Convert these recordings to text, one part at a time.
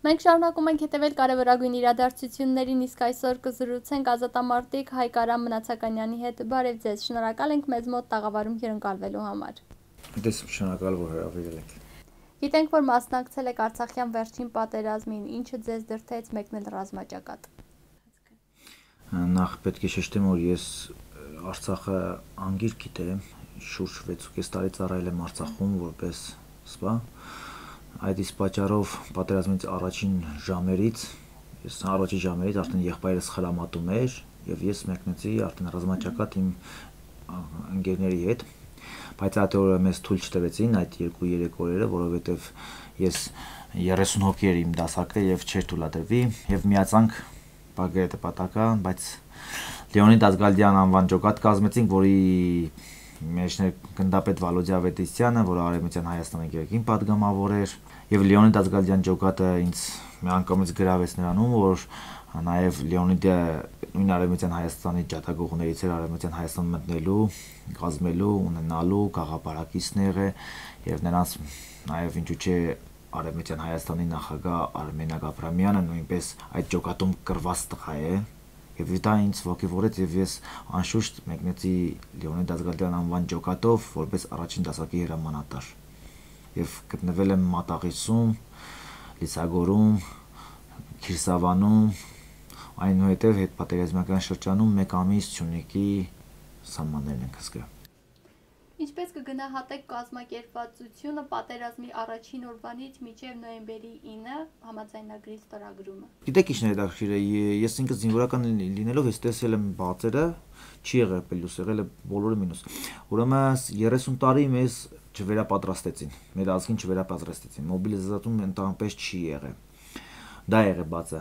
Մենք շարունակում ենք հետևել կարևորագույն իրադարձություններին, իսկ այսօր կզրուցենք ազատամարտիկ Հայկ Արամ Մնացականյանի հետ։ Բարև ձեզ, շնորհակալ ենք մեզ մոտ տաղավարում հյուրընկալվելու համար։ Դες շնորհակալ որ հրավիրել եք։ Գիտենք, որ մասնակցել եք Արցախյան վերջին պատերազմին, ինչը ձեզ դրդեց մեկնել ռազմաճակատ։ Նախ պետք է շեշտեմ, որ ես Արցախը անգիր գիտեմ, շուրջ 6.5 տարի ծառայել եմ Արցախում որպես սպա։ Այդ իսկ պատճառով պատերազմից առաջին ժամերից արդեն եղբայրս խրամատում էր եւ ես մեկնեցի արդեն ռազմաճակատ իմ ընկերների հետ, բայց այդ օրը մեզ թույլ չտվեցին այդ 2-3 օրերը, որովհետեւ ես 30 հոգի էր իմ դասակը եւ չէր թույլատրվի եւ միացանք Բագրատը պատական, բայց Լեոնիդ Ազգալդյան անվան ջոկատ կազմեցինք, որի մեջներ գնդապետ Վալոդիա Ավետիսյանը, որը Արևմտյան Հայաստանի գերագին падգամավոր էր, եւ Լեոնիդ Ազգալդյան ջոկատը ինձ մի անգամից գրավեց նրանում, որ նաեւ Լեոնիդը նույն Արևմտյան Հայաստանի ջատագողներից էր Արևմտյան Հայաստան մտնելու, կազմելու, ունենալու գաղափարակիցներ է եւ նրանց նաեւ ինչու՞ չէ Արևմտյան Հայաստանի նախագահ Արմեն Աբրամյանը նույնպես այդ ջոկատում կրված տղա է եւ դա ինձ ողջևորեց եւ ես անշուշտ մեկնեցի Լեոնիդ Ազգալդյան անվան ջոկատով որպես առաջին դասակի հրամանատար եւ գտնվել եմ Մատաղիսում, Լիսագորում, Քիրսավանում, այնուհետեւ հետպատերազմական շրջանում 1 ամիս Սյունիքի սահմաններն ենք հսկա։ Ինչպես կգնահատեք կազմակերպվածությունը պատերազմի առաջին օրվանից մինչև նոյեմբերի 9 համաձայնագրի ստորագրումը։ Գիտեք ինչ հետաքրքիր է, ես ինքս զինվորական լինելով ես տեսել եմ բացերը, չի եղել պլյուս, եղել է բոլորը մինուս։ Ուրեմն 30 տարի մեզ չվերապատրաստեցին, մեր ազգին չվերապատրաստեցին, մոբիլիզացում ընդհանրապես չի եղել։ Դա եղել բացը։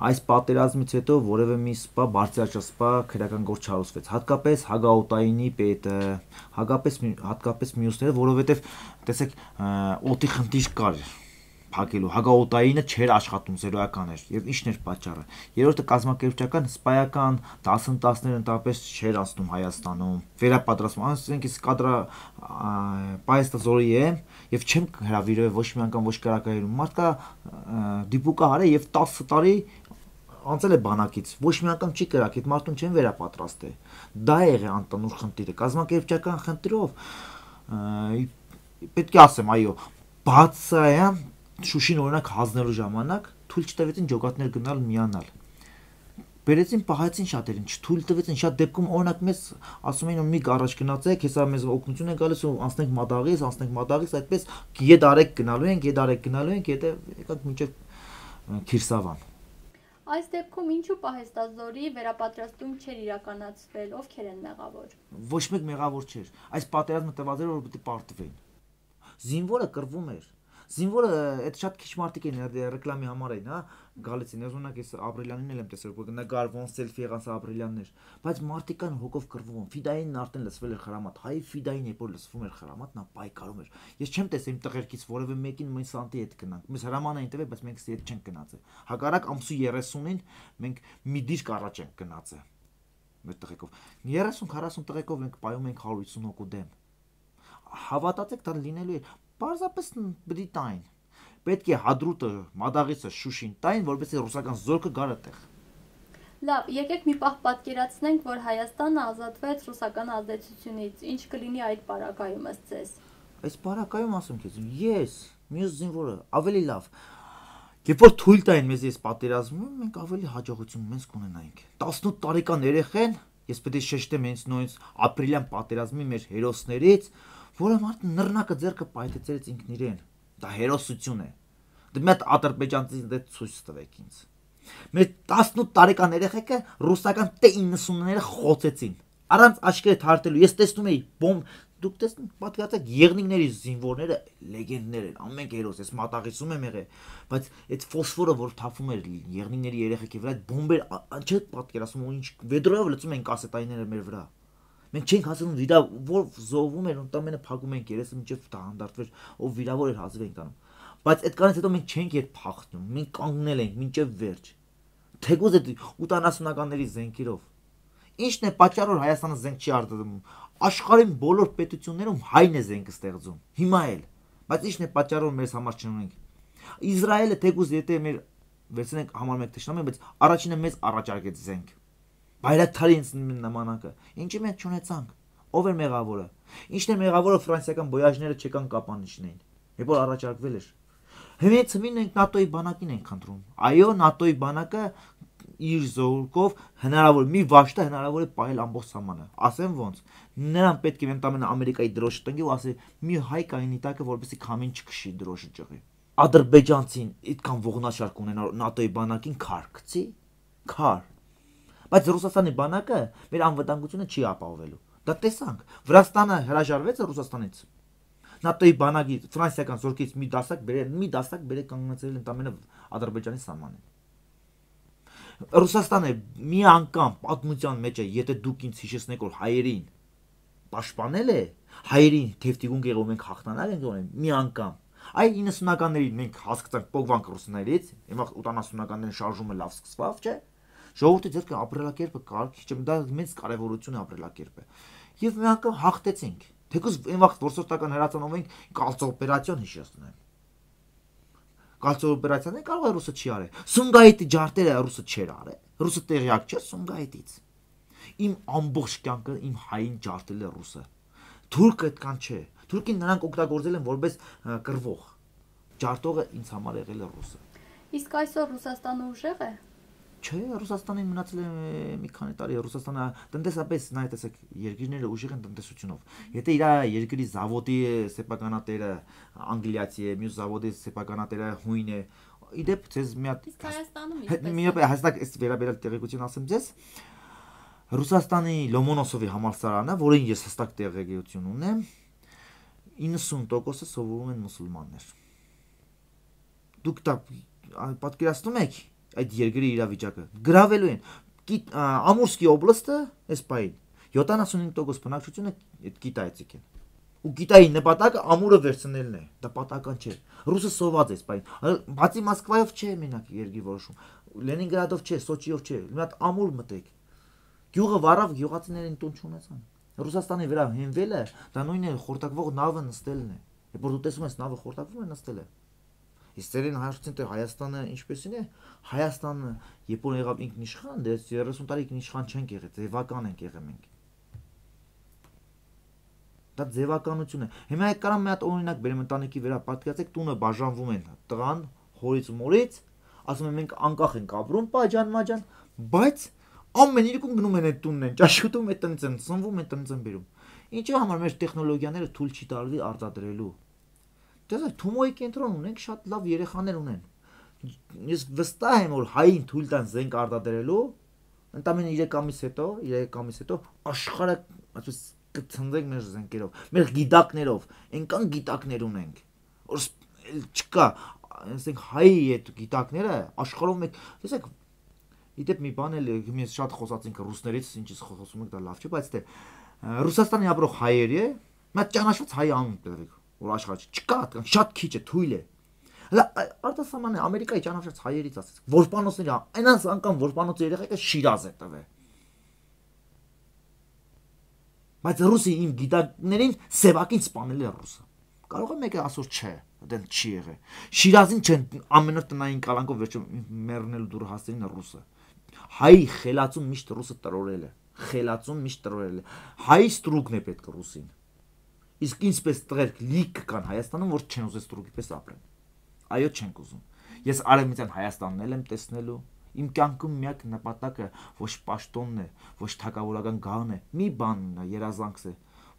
Այս պատերազմից հետո որևէ մի սպա բարձրաճասպա քրեական գործ չարուցվեց, հատկապես Հագաօտայինի պետը, հատկապես մյուսները, որովհետև տեսեք, օդի խնդիր կար փակելու, Հագաօտայինը չէր աշխատում, զերոյական էր, եւ ի՞նչն էր պատճառը։ Երրորդը կազմակերպչական, սպայական դասընթացներ ընդհանրապես չէր անցնում Հայաստանում։ Վերապատրաստում, ասենք ես կադրա պայստազորի եմ եւ չեմ հրավիրել ոչ մի անգամ ոչ կարակայում։ Մարդկա դիպուկա արել եւ 10 տարի անցել է բանակից, ոչ մի անգամ չի կրակ, այդ մարդուն չեն վերապատրաստել։ Դա է եղել անտանուր խնդիրը, կազմակերպչական խնդրով պետք է ասեմ, այո, բացայան Շուշին օրինակ հանձնելու ժամանակ թույլ չտվեցին ջոկատներ գնալ միանալ։ Բերեցին պահեցին շատերին, չթույլ տվեցին, շատ դեպքում օրինակ մեզ ասում էին մի առաջ գնացեք, հեսա մեզ օգնություն է գալիս ու անցնենք Մադաղից, այդպես գեդարեք գնալու ենք, հետո եկանք մինչև Քիրսավան։ Այս դեպքում ինչու պահեստազորի վերապատրաստում չէր իրականացվել, ովքեր են մեղավոր։ Ոչ մեկ մեղավոր չէր։ Այս պատերազմը տված էր որ պետք է պարտվեն։ Զինվորը կռվում էր։ Զինվորը այդ շատ քիչ մարդիկ են ռեկլամի համար էին, հա, գալիս են, օրինակ ես Ապրիլյանին էլ եմ տեսել, որ նկար ոնց սելֆի եղած Ապրիլյաններ, բայց մարդիկ կան հոգով կռվում, Ֆիդայինն արդեն լսվել էր խրամատ, հայ Ֆիդային երբ որ լսվում էր խրամատ, նա պայքարում էր։ Ես չեմ տեսել իմ տղերքից որևէ մեկին մեն սանտի հետ գնանք։ Մեզ հրաման էին տվել, բայց մենք հետ չենք գնացել։ Հակառակ ամսու 30-ին մենք մի դիրք առաջ ենք գնացել։ Մեր տղեկով 30-40 տղեկով ենք պայում ենք 150 հոգու դեմ։ Հավատացեք, դա լինելու է Պարզապես բդի տային։ Պետք է Հադրուտը, Մադաղիսը, Շուշին տային, որպեսզի ռուսական զորքը գար այդտեղ։ Լավ, եկեք մի պահ պատկերացնենք, որ Հայաստանը ազատվեց ռուսական ազդեցությունից։ Ինչ կլինի այդ պարագայում ըստ ձեզ։ Այս պարագայում ասում քեզ, ես, մյուս զինվորը, ավելի լավ։ Երբ որ թույլ տային մեզ այս պատերազմում, մենք ավելի հաջողություն մեզ կունենայինք։ 18 տարեկան երեխեն, ես պետք է շեշտեմ հենց նույնիսկ ապրիլյան պատերազմի մեր հերոսներից, որը մարդը նռնակը ձեռքը պայթեցրեց ինքն իրեն։ Դա հերոսություն է։ Դե մի հատ ադրբեջանցի դե ցույց տվեք ինձ։ Մեր 18 տարեկան երեխեքը ռուսական T-90-ները խոցեցին։ Առանց աչքերը թարթելու։ Ես տեսնում էի բոմբ, դուք տեսնում պատկերացեք Եղնիկների զինվորները լեգենդներ են, ամեն հերոս, ես Մատաղիսում եմ եղել, բայց այդ ֆոսֆորը որ թափում էր Եղնիկների երեխեքի վրա, այդ բոմբեր չէ պատկերացնում ու ինչ վեդրոյով լցում են կասետայինները մեր վրա։ Մենք չենք հասնում վիրա որ զոհվում էր ընդամենը փակում ենք երեսը մինչև դա հանդարտվեր ով վիրավոր էր հազիվ ենք անում բայց այդքանից հետո մենք չենք երբ փախնում մենք կանգնել ենք մինչև վերջ թեկուզ այդ 80-ականների զենքերով ինչն է պատճառը որ Հայաստանը զենք չի արտադրում աշխարհի բոլոր պետություններում հայն է զենքը ստեղծում հիմա էլ բայց ինչն է պատճառը որ մեզ համար չունենք Իսրայելը թեկուզ եթե մեր վերցնենք համարում եք թշնամի, բայց առաջինը մեզ առաջարկեց զենք։ Բայրակթարի նմանակը։ Ինչի մենք չունեցանք։ Ով էր մեղավորը։ Ինչն է մեղավորը ֆրանսիական բոյաժները չեկան կապանիշներին։ Երբ որ առաջարկվել էր։ Հենց մենք ՆԱՏՕ-ի բանակին ենք խնդրում։ Այո, ՆԱՏՕ-ի բանակը իր զորքով հնարավոր մի վաշտը հնարավոր է պահել ամբողջ սահմանը։ Ասեմ ոնց։ Նրան պետք է ընդամենը Ամերիկայի դրոշը տնկի ու ասի մի հայ կայնի տակը որպեսզի քամին չքշի դրոշը ճղի։ Ադրբեջանցին այդքան ողնաշարք ունենա ՆԱՏՕ-ի բանակին քար գցի։ Քար։ Բայց Ռուսաստանի բանակը մեր անվտանգությունը չի ապահովելու։ Դա տեսանք։ Վրաստանը հրաժարվեց Ռուսաստանից։ ՆԱՏՕ-ի բանակի ֆրանսիական զորքից մի դասակ բերել կանգնեցրել ընդամենը Ադրբեջանի սահմանին։ Ռուսաստանը մի անգամ պատմության մեջ է, եթե դուք ինձ հիշեցնեք, որ հայերին պաշտպանել է, հայերին թեվտիգուն եղել մենք հաղթանակ ենք ունեն, մի անգամ։ Այ 90-ականներին մենք հասկացանք փողվանք ռուսներից, հիմա 80-ականներին շարժումը լավ սկսավ, չէ՞։ Ժողովրդի ձեռքը ապրելակերպը կարգի չէ, դա մեծ կարևորություն է ապրելակերպը։ Եվ մի անգամ հաղթեցինք։ Թեկուզ այն վաղ որսորդական հրացանով ենք կալցո օպերացիան հիշեցնեմ։ Կալցո օպերացիան կարող է ռուսը չի արել։ Սումգայիթի ջարտերը ռուսը չէր արել։ Ռուսը տեղյակ չէ Սումգայիթից։ Իմ ամբողջ կյանքը իմ հային ջարտել է ռուսը։ Թուրքը այդքան չէ։ Թուրքին նրանք օգտագործել են որպես կռվող։ Ջարտողը ինձ համար եղել է ռուսը։ Իսկ այսօր Ռուսաստանը ուժեղ է։ Չէ, Ռուսաստանին մնացել է մի քանի տարի, Ռուսաստանը տնտեսապես նայ տեսեք, երկիրները ուժեղ են տնտեսությունով։ Եթե իր երկրի զավոդի սեփականատերը անգլիացի է, մյուս զավոդի սեփականատերը հույն է, իդեպ ցեզ մի հատ Հայաստանում մի հստակ այս վերաբերյալ տեղեկություն ասեմ ձեզ։ Ռուսաստանի Լոմոնոսովի համալսարանը, որին ես հստակ տեղեկություն ունեմ, 90%-ը սովորում են մուսուլմաններ։ Դուք դա պատկերացնում եք այդ երկրի իրավիճակը գրավելու են Ամուրսկի օբլաստը այս պահին 75% բնակչությունը այդ Կիտայից եկեն ու Կիտայի նպատակը ամուրը վերցնելն է դա պատական չէ ռուսը սոված է այս պահին բացի Մոսկվայով չէ մենակ երկրի որոշում Լենինգրադով չէ Սոչիով չէ մի հատ ամուր մտեք գյուղը վառավ գյուղացիներին տուն չունեցան Ռուսաստանի վրա հենվելը դա նույնն է խորտակվող նավը նստելն է երբ որ դու տեսում ես նավը խորտակվում է նստել է Իսկ դերին հայրցին թե Հայաստանը ինչպեսին է Հայաստանը երբ որ եղավ ինքնիշխան դες 30 տարի ինքնիշխան չենք եղել ձևական ենք եղել մենք Դա ձևականություն է Հիմա կարամ մի հատ օրինակ բերեմ ընտանիքի վրա պատկերացեք տունը բաժանվում են տղան հորից ու մորից ասում են մենք անկախ ենք ապրում պաջան մաջան բայց ամեն իրիկուն գնում են այդ տունն են ճաշուտում այդ տնից են սնվում այդ տնից են բերում Ինչի համար մեր տեխնոլոգիաները թույլ չի տալվի արտադրելու Դες Թումոյի կենտրոն ունենք շատ լավ երեխաներ ունեն։ Ես վստահ եմ որ հային թույլ տան զենք արտադրելու, ընդամենը 3 ամիս հետո աշխարհը ասես կցնցենք մեր զենքերով, մեր գիտակներով, այնքան գիտակներ ունենք։ Որ չկա, ասենք հայի այդ գիտակները աշխարհով մեկ, տեսեք, իդեպ մի բան էլ մենք շատ խոսացինք ռուսներից, ինչից խոսում ենք դա լավ չէ, բայց դե Ռուսաստանի ապրող հայերի, մի ճանաչված հայ անուն տվեք որ աշխարհը չկա, շատ քիչ է, թույլ է։ Հələ արտասահմանը Ամերիկայի ճանաչած հայերից ասած, որպանոցների, այնպես անգամ որպանոցի երեխեքը Շիրազ է տվել։ Բայց ռուսի իմ գիտակներին Սևակին սպանել է ռուսը։ Կարող է մեկը ասոր չէ, դեն չի եղել։ Շիրազին չեն ամենօր տնային կալանքով վերջում մեռնելու դուրը հասցրին ռուսը։ Հայի խելացում միշտ ռուսը տրորել է։ Խելացում միշտ տրորել է։ Հայի ստրուկն է պետք ռուսին։ Իսկ ինչպես տղերք լիք կան Հայաստանում, որ չեն ուզում ստրուկի պես ապրեն։ Այո, չենք ուզում։ Ես արևմտյան Հայաստանն եմ տեսնելու։ Իմ կյանքում միակ նպատակը ոչ պաշտոնն է, ոչ թագավորական գահն է, մի բանն է, երազանքս է,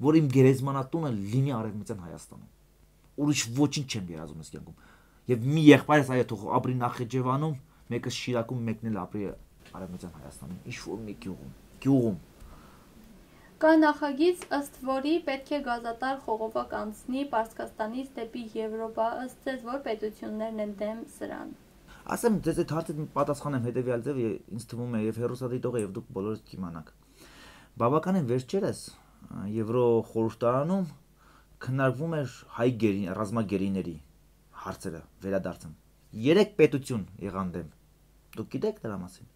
որ իմ գերեզմանատունը լինի արևմտյան Հայաստանում։ Ուրիշ ոչինչ չեմ երազում այս կյանքում։ Եվ մի եղբայրս այո թող ապրի Նախիջևանում, մեկը Շիրակում, մեկն էլ ապրի արևմտյան Հայաստանում։ Ինչ որ մի գյուղում։ Կա նախագիծ, ըստ որի պետք է գազատար խողովակ անցնի Պարսկաստանից դեպի Եվրոպա, ըստ ձեզ որ պետություններն են դեմ սրան։ Ասեմ, ձեզ այդ հարցը պատասխանեմ հետևյալ ձև, ինձ թվում է եւ հերոսադիտողը եւ դուք բոլորս կիմանաք։ Բավականին վերջերս Եվրո խորհրդարանում քննարկվում էր հայ ռազմագերիների հարցերը վերադարձում։ 3 պետություն եղան դեմ։ Դուք գիտեք դրա մասին։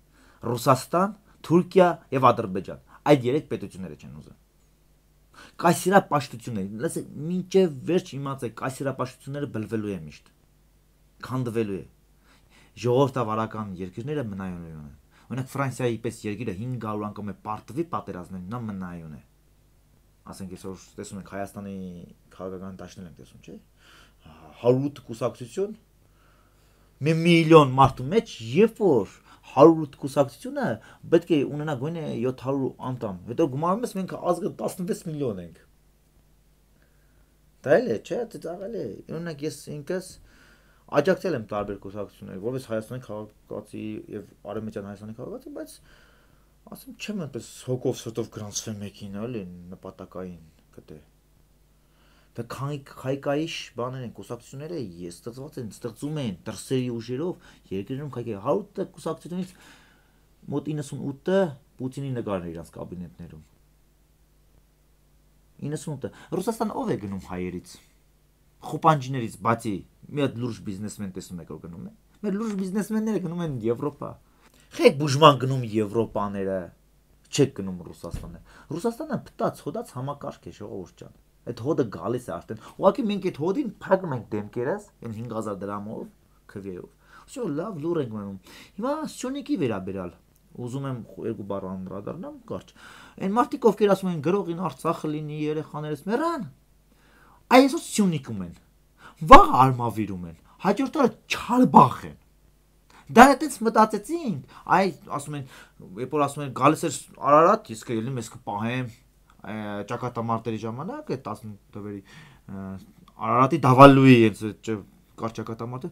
Ռուսաստան, Թուրքիա եւ Ադրբեջան։ Այդ 3 պետությունները չեն ուզում։ Կայսերապաշտությունները, լսեք, մինչև վերջ իմացեք, կայսերապաշտությունները բլվելու են միշտ։ քանդվելու է։ Ժողովրդավարական երկրները մնայուն են։ Օրինակ Ֆրանսիայի պես երկիրը 500 անգամ է պարտվի պատերազմին, նա մնայուն է։ Ասենք այսօր տեսնում ենք Հայաստանի քաղաքական դաշտներ ենք տեսնում, չէ՞։ 108 կուսակցություն մի միլիոն մարդու մեջ, երբ որ 108 կուսակցությունը պետք է ունենա գոնե 700 անդամ, հետո գումարում ես մենք ազգը 16 միլիոն ենք։ Դա էլ է, չէ՞, դա աղել է։ Օրինակ ես ինքս աջակցել եմ տարբեր կուսակցություններ, որպես Հայաստանի քաղաքացի եւ Արևմտյան Հայաստանի քաղաքացի, բայց ասեմ չեմ այնպես հոգով սրտով գրանցվել մեկին, էլի նպատակային կտե։ Դա քայքայիշ բաներ են, կուսակցությունները ստեղծված են, ստեղծում են դրսերի ուժերով երկրներում քայքայ 100 կուսակցությունից մոտ 98-ը Պուտինի նկարն է իրաց կաբինետներում։ 98-ը Ռուսաստան ով է գնում հայերից։ Խոպանջիներից բացի մի հատ լուրջ բիզնեսմեն տեսնում եք որ գնում է։ Մեր լուրջ բիզնեսմենները գնում են Եվրոպա։ Խեք բուժման գնում Եվրոպաները, չեք գնում Ռուսաստանը։ Ռուսաստանը փտած, հոդած համակարգ է, ժողովուրդ ջան։ Այդ հոդը գալիս է արդեն։ Ուղղակի մենք այդ հոդին փակում ենք դեմքերս, այն 5000 դրամով, քվեով։ Всё, լավ լուր ենք մնում։ Հիմա Սյունիքի վերաբերալ ուզում եմ երկու բառ անդրադառնամ, կարճ։ Այն մարդիկ ովքեր ասում են գրողին Արցախը լինի, երեխաներս մեռան, այսօր Սյունիքում են։ Վաղ Արմավիրում են, հաջորդ օրը Չարբախ են։ Դա այդպես մտածեցինք, այ ասում են, երբ որ ասում են գալիս էր Արարատ, իսկ ելնի մեզ կպահեմ ճակատամարտերի ժամանակ, այդ 10 թվերի Արարատի Դավալուի այդ կար ճակատամարտը,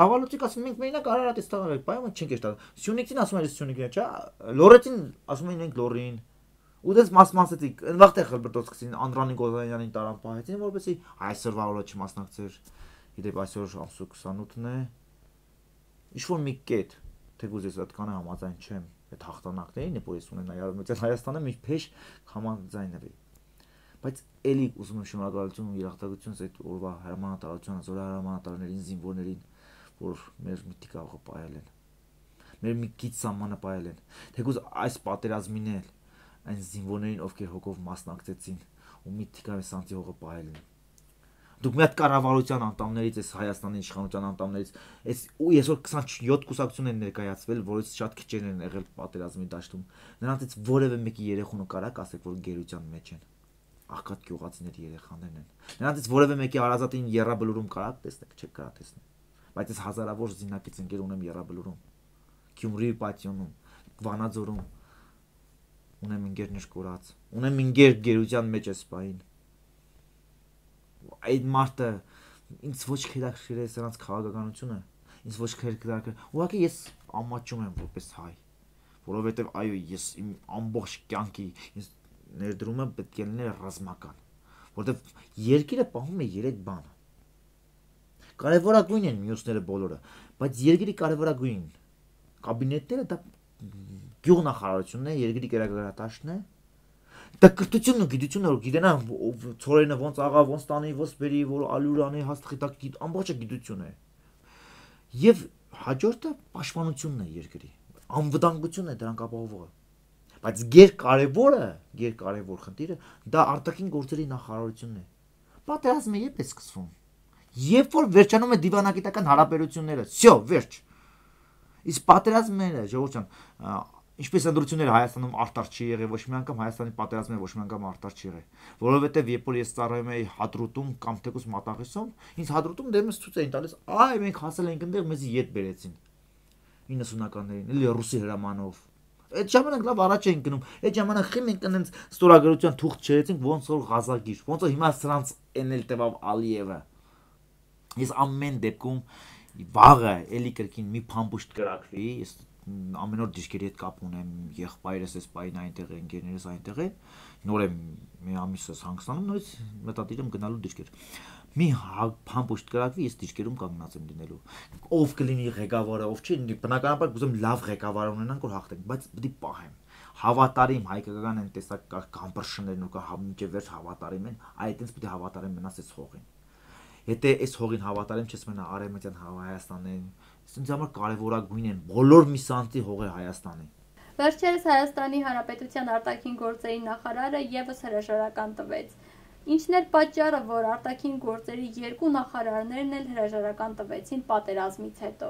Դավալուցիկ ասում մենք մենակ Արարատից տաղալ ենք, պայման չենք էշտա։ Սյունիքին ասում են Սյունիքին, չէ՞, Լորեցին ասում են մենք Լորին։ Ու դες մասմասեցիք, այնվաղտեղ Խլբրտոցքին Անդրանիկ Օզանյանին տարան պահեցին, որպեսզի այսօրվա օրը չմասնակցեր։ Իդեպ այսօր ամսու 28-ն է։ Ինչ-որ մի կետ, թեկուզ ես այդքանը համաձայն չեմ, այդ հաղթանակներին, որ ես ունենայի Արևմտյան Հայաստանը մի փեշ համաձայնվի։ Բայց էլի ուզում եմ շնորհակալություն ու երախտագիտություն այդ օրվա հրամանատարությանը, զորահրամանատարներին, զինվորներին, որ մեր միտքը աղը պայել են։ Մեր մի քիչ սահմանը պայել են։ Թեկուզ այս պատերազմին էլ այն զինվորներին, ովքեր հոգով մասնակցեցին ու միտքը սանտի հողը պայել են։ Դուք մի հատ կառավարության անդամներից, այս Հայաստանի իշխանության անդամներից, այս ու այսօր 27 կուսակցություն են ներկայացվել, որից շատ քիչերն են եղել պատերազմի դաշտում։ Նրանցից որևէ մեկի երեխունը կարակ ասեք, որ գերության մեջ են։ Աղքատ գյուղացիների երեխաներն են։ Նրանցից որևէ մեկի հարազատին Եռաբլուրում կարակ տեսնեք, չեք կարա տեսնել։ Բայց այս հազարավոր զինակից ընկեր ունեմ Եռաբլուրում, Գյումրի պատյոնում, Վանաձորում ունեմ ընկերներ կորած, ունեմ ընկեր գերության մեջ է սպային։ Այդ մարդը ինձ ոչ քերակրել է սրանց քաղաքականությունը, ինձ ոչ քերակրել։ Ուղղակի ես ամաչում եմ որպես հայ, որովհետև այո, ես իմ ամբողջ կյանքի ինձ ներդրումը պետք է լիներ ռազմական, որովհետև երկիրը պահում է 3 բան։ Կարևորագույն են մյուսները բոլորը, բայց երկրի կարևորագույն կաբինետները դա գյուղնախարարությունն է, երկրի կերակրատաշտն է։ Դա կրթությունն ու գիտությունը որ գիտենա ծորենը ոնց աղա ոնց տանի ոնց բերի որ ալուրանի հաստղի տակ ամբողջը գիտություն է եւ հաջորդը պաշտպանությունն է երկրի անվտանգությունն է դրանք ապահովողը բայց գերկարևոր խնդիրը դա արտաքին գործերի նախարարությունն է պատերազմը երբ է սկսվում երբ որ վերջանում է դիվանագիտական հարաբերությունները всё վերջ իսկ պատերազմները ժողովուրդ ջան Ինչպես ընդրությունները Հայաստանում արտար չի եղել, ոչ մի անգամ Հայաստանի պատերազմները ոչ մի անգամ արտար չի եղել, որովհետև երբ որ ես ծառայում էի Հադրութում կամ թեկուզ Մատաղիսում, ինձ Հադրութում դեմս ցույց էին տալիս, այ մենք հասել ենք այնտեղ մեզ ետ բերեցին 90-ականներին, էլի ռուսի հրամանով։ Այդ ժամանակ լավ առաջ էին գնում, այդ ժամանակ խի մենք այնց ստորագրության թուղթ չերեցինք, ոնց որ Ղազագիր, ոնց որ հիմա սրանց էնել տևավ Ալիևը։ Ես ամեն դեպքում վաղը էլի կրկին մի փամփուշտ կրակվի, ես ամեն օր դիշկերի հետ կապ ունեմ, եղբայրս էս պայն այնտեղ է, ընկերներս այնտեղ է, նոր եմ մի ամիսս հանգստանում, նորից մտադիր եմ գնալու դիշկեր։ Մի փամփուշտ կրակվի, ես դիշկերում կանգնած եմ լինելու։ Ով կլինի ղեկավարը, ով չի, բնականաբար կուզեմ լավ ղեկավար ունենանք, որ հաղթենք, բայց պետք է պահեմ։ Հավատարիմ հայկական այն տեսակ կամբրշներն ու կա մինչև վերջ հավատարիմ են, այդտենց պետք է հավատարիմ մնաս այս հողին։ Եթե այս հողին հավատարիմ չես մնա Արևմտյան Հայաստանին, ինձ համար կարևորագույն են բոլոր մի սանտի հողեր Հայաստանի։ Վերջերս Հայաստանի Հանրապետության արտաքին գործերի նախարարը եւս հրաժարական տվեց։ Ինչն էր պատճառը, որ արտաքին գործերի երկու նախարարներն էլ հրաժարական տվեցին պատերազմից հետո։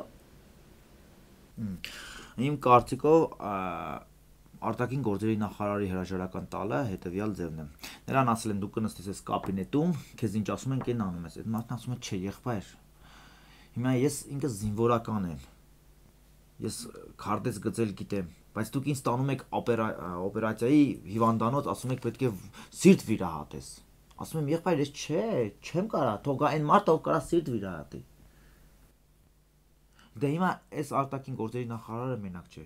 Իմ կարծիքով արտաքին գործերի նախարարի հրաժարական տալը հետևյալ ձևն է։ Նրան ասել են դու կնստես այս կաբինետում, քեզ ինչ ասում են, կեն անում ես։ Այդ մարդն ասում է, չէ, եղբայր։ Հիմա ես ինքս զինվորական եմ։ Ես քարտեզ գծել գիտեմ, բայց դուք ինձ տանում եք օպերացիայի հիվանդանոց, ասում եք պետք է սիրտ վիրահատես։ Ասում եմ, եղբայր, ես չեմ կարա, թող գա այն մարդը, ով կարա սիրտ վիրահատի։ Դե հիմա այս արտաքին գործերի նախարարը մենակ չէ։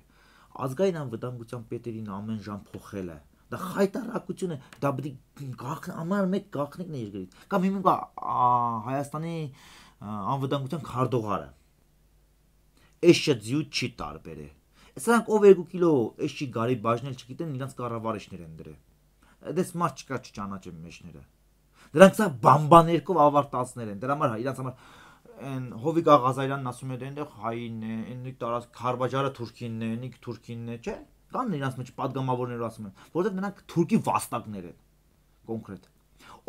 Ազգային անվտանգության պետերին ամեն ժամ փոխել է։ Դա խայտարակություն է, դա պետք է ամառ մեկ գաղտնիքն է երկրից։ Կամ հիմա Հայաստանի անվտանգության քարտուղարը։ Էշը ձյու չի տարբեր է։ Սրանք ով 2 կիլո էշի գարի բաժնել չգիտեն, իրանց կառավարիչներ են դրել։ Դες մարդ չկա չճանաչեմ մեջները։ Դրանք սա բամբաներկով ավարտածներ են։ Դրա համար իրանց համար այն Հովիկ Աղազարյանն ասում էր այնտեղ հային է, այնիկ տարած Խարվաճարը թուրքինն է, այնիկ թուրքինն է, չէ՞։ Կան իրանց մեջ падգամավորներ ասում են, որովհետև նրանք թուրքի վաստակներ են։ Կոնկրետ։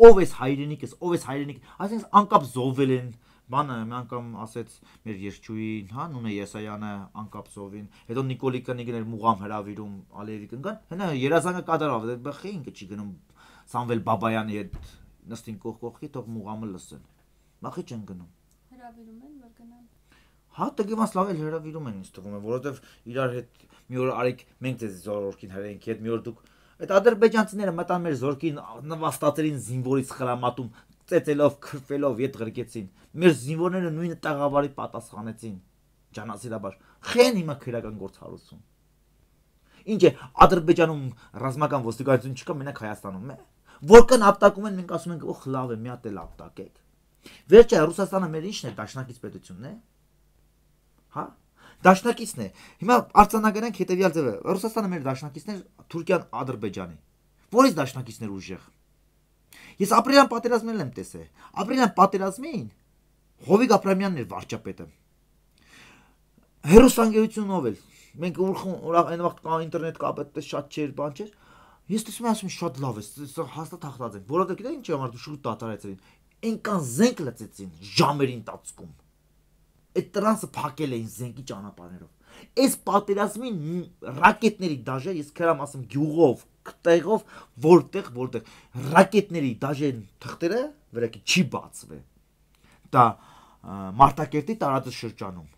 Ով էս հայրենիքս, ով էս հայրենիք, այսինքն անկապ զոհվել են, բանը մի անգամ ասեց մեր երգչուհին, հա, Նունե Եսայանը անկապ զովին, հետո Նիկոլի կնիգն էր մուղամ հրավիրում Ալիևի կնկան, հենա երազանքը կատարավ, բխի ինքը չի գնում Սամվել Բաբայանի հետ նստին կողքի, թող մուղամը լսեն։ Բախի չեն գնում։ Հրավիրում են, որ գնան։ Հա, տղեւաս լավ էլ հրավիրում են ինձ թվում է, որովհետև իրար հետ մի օր արեք մենք ձեզ զորքին հրենք, հետ մի օր դուք այդ ադրբեջանցիները մտան մեր զորքին նվաստացերին զինվորից խրամատում ծեծելով, քրֆելով ետ ղրկեցին։ Մեր զինվորները նույնը տաղավարի պատասխանեցին։ Ջանասիրաբար։ Խեն հիմա քրական գործ հարուցում։ Ինչ է, Ադրբեջանում ռազմական ոստիկանություն չկա, մենակ Հայաստանում է։ Որքան ապտակում են, մենք ասում ենք, օխ, լավ է, մի հատ էլ ապտակեք։ Վերջը Ռուսաստանը մեր ինչն է, դաշնակից պետությունն է։ Հա։ Դաշնակիցն է։ Հիմա արձանագրենք հետևյալ ձևը։ Ռուսաստանը մեր դաշնակիցն է, Թուրքիան Ադրբեջանի։ Որից դաշնակիցներ ուժեղ։ Ես ապրիլյան պատերազմներն եմ տեսել։ Ապրիլյան պատերազմին Հովիկ Աբրամյանն էր վարչապետը։ Հերոսանգերությունով էլ։ Մենք այն վաղ ինտերնետ կապը շատ չէր, բան չէր։ Ես տեսնում եմ, ասում շատ լավ է, հաստատ հաղթած են։ Որովհետև գիտեք ինչ համար դու շուտ դատարեցին։ Այնքան զենք լծեցին ժամերի ընթացքում։ Այդ տրանսը փակել էին զենքի ճանապարհներով։ Այս պատերազմին ռակետների դաժե, ես քրամ ասում գյուղով, տեղով, որտեղ ռակետների դաժե թղթերը վրակի չի բացվել։ Դա Մարտակերտի տարածաշրջանում։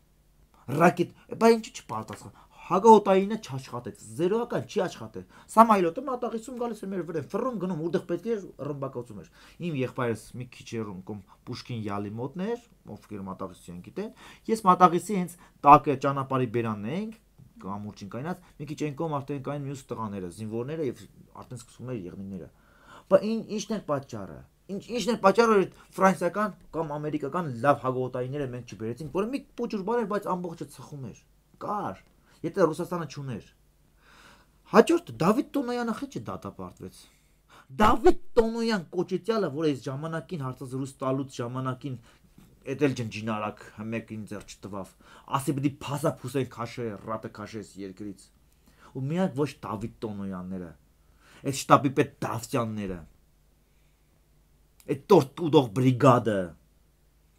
Ռակետ, բա ինչու չպարտացան։ Հագահոտայինը չաշխատեց, զերոական չի աշխատել։ Սամայլոտը մատաղիսում գալիս էր մեր վրան, ֆռում գնում, որտեղ պետք էր ռմբակոծում էր։ Իմ եղբայրս մի քիչ երում կոմ Պուշկին յալի մոտն էր, ովքեր մատաղիսի են գիտեն։ Ես մատաղիսի հենց տակը ճանապարհի բերանն էինք, կամուրջին կայնած, մի քիչ այն կողմ արդեն կային մյուս տղաները, զինվորները եւ արդեն սկսում էր եղնիկները։ Բա ինչն էր պատճառը։ Ինչն էր պատճառը, որ ֆրանսիական կամ ամերիկական լավ հագողոտայինները մենք չբերեցինք, որը մի փոքր բան էր, բայց ամբողջը ծխում էր։ Կար, եթե Ռուսաստանը չուներ։ Հաջորդ Դավիթ Տոնոյանը խիչը դատապարտվեց։ Դավիթ Տոնոյան կոչեցյալը, որ այս ժամանակին հարցազրույց տալուց ժամանակին էդել ջնջինարակ մեկին ձեռ չտվավ, ասի պիտի փասափուսեն քաշե, ռատը քաշես երկրից։ Ու միակ ոչ Դավիթ Տոնոյանները, այդ շտաբի պետ Դավթյանները, այդ տորտուդող բրիգադը,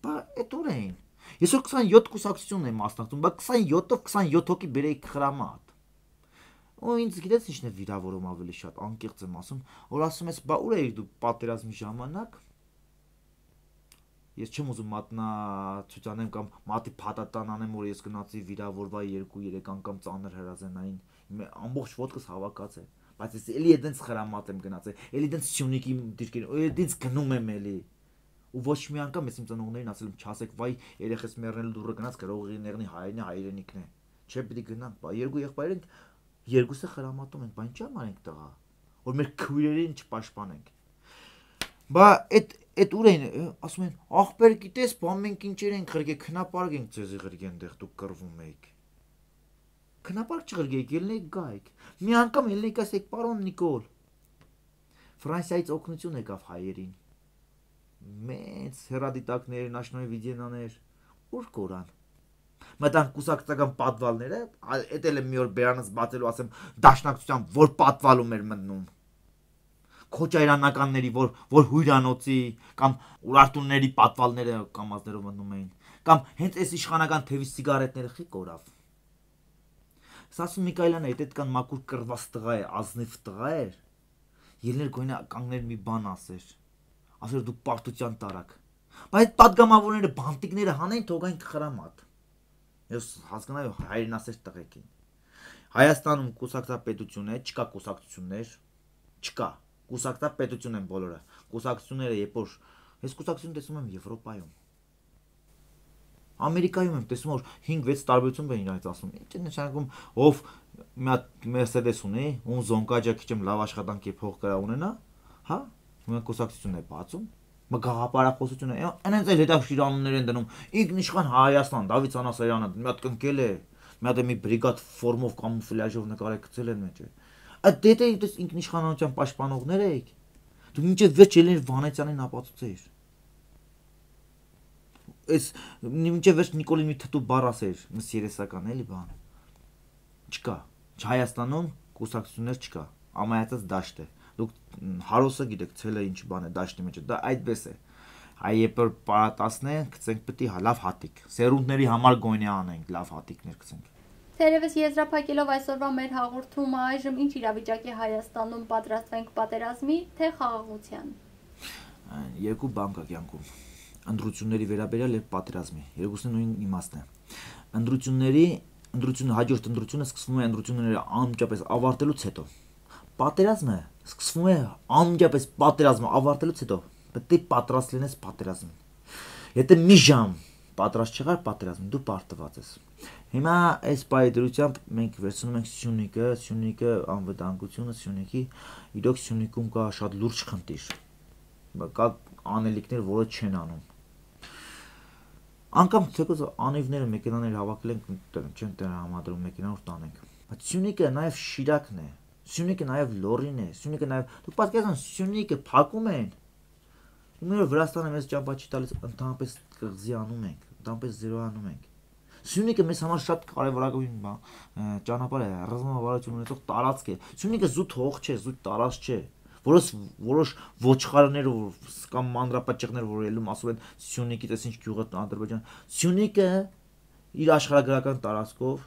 բա այդ ուր էին։ Ես որ 27 կուսակցությունն եմ մասնակցում, բա 27-ով 27 հոգի բերեի խրամատ։ Ու ինձ գիտես ինչն է վիրավորում ավելի շատ, անկեղծ եմ ասում, որ ասում ես, բա ուր էիք դու պատերազմի ժամանակ։ Ես չեմ ուզում մատնացույցանեմ կամ մատի փաթաթան անեմ, որ ես գնացի վիրավորվայի 2-3 անգամ ծանր հրազենային, ամբողջ ոտքս հավաքած է, բայց ես էլի այդենց խրամատ եմ գնացել, էլի այդենց Սյունիքի դիրքերին, ու այդենց գնում եմ էլի։ Ու ոչ մի անգամ ես իմ ծնողներին ասել եմ, չասեք, վայ, երեխես մեռնել դուրը գնաց գրողի ներնի հայրենիքն է։ Չէ, պիտի գնանք, բա երկու եղբայր ենք, երկուսը խրամատում ենք, բա ինչա՞ մարենք տղա, որ մեր քույրերին չպաշտպանենք։ Բա այդ ուր էին, ասում են, ախպեր գիտես, բա մենք ինչեր ենք ղրգե, քնապարկ ենք ձեզի ղրգե այնտեղ դուք կռվում եք։ Քնապարկ չղրգեիք, ելնեիք գայիք։ Մի անգամ ելնեիք ասեք, պարոն Նիկոլ։ Ֆրանսիայից օգնություն եկավ հայերին։ Մեծ հեռադիտակներ, նաշնորհի վիդեոներ, ուր կորան։ Մտան կուսակցական պատվալները, էդ էլ եմ մի օր բերանս բացելու ասեմ, դաշնակցության որ պատվալում էր մտնում։ քոչայրանականների, որ հույրանոցի կամ Ուրարտունների պատվալները կամազներով մտնում էին, կամ հենց այս իշխանական թևի սիգարետները խի կորավ։ Սասուն Միքայելյանը այդ կան մակուր կրված տղա է, ազնիվ տղա էր, ելներ գույնը կանգներ մի բան ասեր, ասեր դու պարտության տարակ, բայց այդ պատգամավորները բանտիկները հանեն թողային խրամատ։ Ես հասկանալի հայրենասեր տղեկ են։ Հայաստանում կուսակցապետություն է, չկա կուսակցություններ, չկա, կուսակցապետություն են բոլորը, կուսակցությունները երբ որ, ես կուսակցություն տեսնում եմ Եվրոպայում, Ամերիկայում եմ տեսնում որ 5-6 տարբերություն բեն իրարից ասում, ինչ է նշանակում ով մի հատ Mercedes ունի, ում զոնկաջա քիչ եմ լավ աշխատանքի փող կրա ունենա, հա, մի կուսակցություն է բացում, մա գաղափարախոսություն է, այնց էլ հետաքրքիր անուններ են դնում, ինքնիշխան Հայաստան, Դավիթ Սանասարյանը, մի հատ կնկել է, մի հատ մի բրիգադ ֆորմով կամուֆլյաժով նկարել գցել են մեջ։ Այդ դե ինքնիշխանության պաշտպանողներ եք։ Դու մինչև վերջ ելներ Վանեցյանին ապացուցեիր։ Այս մինչև վերջ Նիկոլին մի թթու բառ ասեր, մս երեսական էլի բան։ Չկա։ Հայաստանում կուսակցություններ չկա։ Ամայացած դաշտ է։ Դուք հարոսը գիտեք, ցելը ինչ բան է դաշտի մեջ։ Դա այդպես է։ Այ երբ որ պարատասնեն, գցենք պետք է լավ հատիկ։ Սերունդների համար գոնե անենք, լավ հատիկներ գցենք։ Թերևս եզրափակելով այսօրվա մեր հաղորդումը այժմ ինչ իրավիճակ է Հայաստանում, պատրաստվենք պատերազմի, թե խաղաղության։ Երկու բան կա կյանքում։ Ընտրությունների վերաբերյալ եւ պատերազմի։ Երկուսն նույն իմաստն է։ Ընտրությունը հաջորդ ընտրությունը սկսվում է ընտրությունները անմիջապես ավարտելուց հետո։ Պատերազմը սկսվում է անմիջապես պատերազմը ավարտելուց հետո։ Պետք է պատրաստ լինես պատերազմին։ Եթե մի ժամ պատրաստ չեղար պատերազմին, դու պարտված ես։ Հիմա այս պայդրությամբ մենք վերցնում ենք Սյունիքը անվտանգությունը Սյունիքի, իրոք Սյունիքում կա շատ լուրջ խնդիր։ Կա անելիքներ, որը չեն անում։ Անկամ թեկուզ անիվները մեքենաներ հավաքել են, չեն համադրում մեքենա որ տանենք։ Բայց Սյունիքը նաև Շիրակն է, Սյունիքը նաև Լոռին է, Սյունիքը նաև դուք պատկերացնում Սյունիքը փակում են։ Իմերը Վրաստանը մեզ ճամփա չի տալիս, ընդհանրապես կղզի անում ենք, ընդհանրապես զերոյանում ենք։ Սյունիքը մեզ համար շատ կարևորագույն ճանապարհ է, ռազմավարություն ունեցող տարածք է։ Սյունիքը զուտ հող չէ, զուտ տարածք չէ։ Որոշ ոչխարներ կամ մանրապաճեղներ որ ելում ասում են Սյունիքից էս ինչ գյուղը Ադրբեջան։ Սյունիքը իր աշխարհագրական տարածքով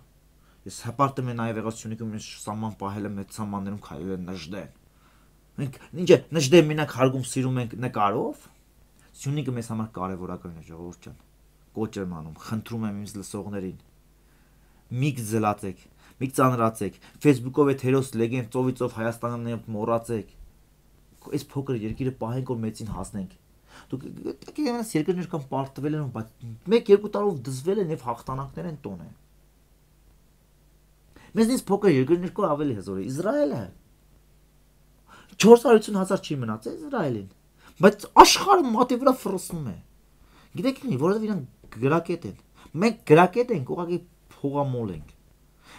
ես հպարտեմ են նաև եղած Սյունիքում ես սաման պահել եմ այդ սամաններում քայլել են նժդեն։ Մենք ինչ է նժդեն մենակ հարգում սիրում ենք նկարով։ Սյունիքը մեզ համար կարևորական է ժողովուրդ ջան։ Կոչ եմ անում, խնդրում եմ ինձ լսողներին։ Միք զլացեք, միք ծանրացեք, Facebook-ով այդ հերոս լեգենդ ծովիցով Հայաստանը մոռացեք։ Այս փոքր երկիրը պահենք որ մեծին հասնենք։ Դուք դեռ երկրներ կան պարտվել են, բայց 1-2 տարով դզվել են եւ հաղթանակներ են տոն են։ Մեզնից փոքր երկրներ կա ավելի հզոր է Իսրայելը։ 450,000 չի մնացել Իսրայելին, բայց աշխարհը մատի վրա ֆրոսնում է։ Գիտեք ինչ, որովհետեւ իրանք գրակետ են։ Մենք գրակետ ենք, ուղղակի փողամոլ ենք։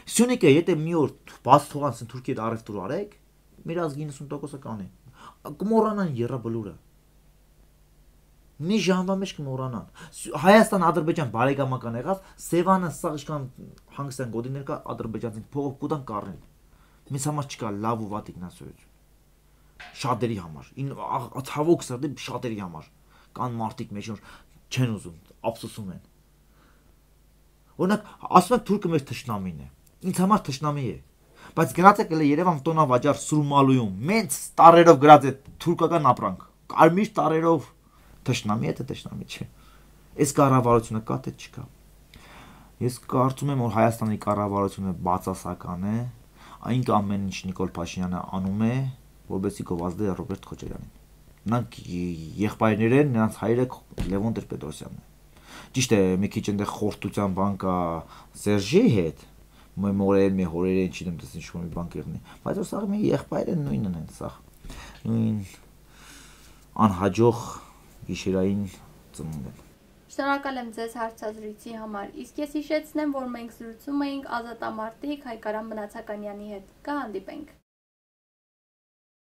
Սյունիքը եթե մի օր բաց թողանց Թուրքիա առևտուր արեք, մեր ազգի 90%-ը կանի։ Կմոռանան երրաբլուրը։ Մի ժամվա մեջ կմոռանան։ Հայաստան-Ադրբեջան բարեկամական եղավ, Սևանը սա իշքան հանգստյան գոդիներ կա ադրբեջանցին փողով կուտան կառնեն։ Մեզ համար չկա լավ ու վատ ինքնասերություն։ Շատերի համար, ցավոք սրտի շատերի համար։ Կան մարդիկ մեջ որ չեն ուզում, ափսոսում են։ Օրինակ, ասում են թուրքը մեր թշնամին է։ Ինձ համար թշնամի է։ Բայց գնացեք էլ Երևան տոնավաճառ Սուրմալույում, մենց տարերով գրած է թուրքական ապրանք։ Կարմիր տարերով թշնամի է, թե թշնամի չէ։ Այս կառավարությունը կա թե չկա։ Ես կարծում եմ որ Հայաստանի կառավարությունը բացասական է, այնք ամեն ինչ Նիկոլ Փաշինյանը անում է, որովհետեւ գովազդի Ռոբերտ Քոչարյանին։ Նրանք եղբայրներ են, նրանց հայրը Լևոն Տեր-Պետրոսյանն է։ Ճիշտ է, մի քիչ այնտեղ խորտության բան կա Սերժի հետ, մորերեն, հորերեն, չգիտեմ, դες ինչ-որ մի բան կեղնի, բայց որ սա մի եղբայր են նույնն են, սա նույն անհաջող գիշերային ծնունդ են։ Շնորհակալ եմ ձեզ հարցազրույցի համար, իսկ ես հիշեցնեմ, որ մենք զրուցում էինք ազատամարտիկ Հայկարամ Մնացականյանի հետ, կհանդիպենք։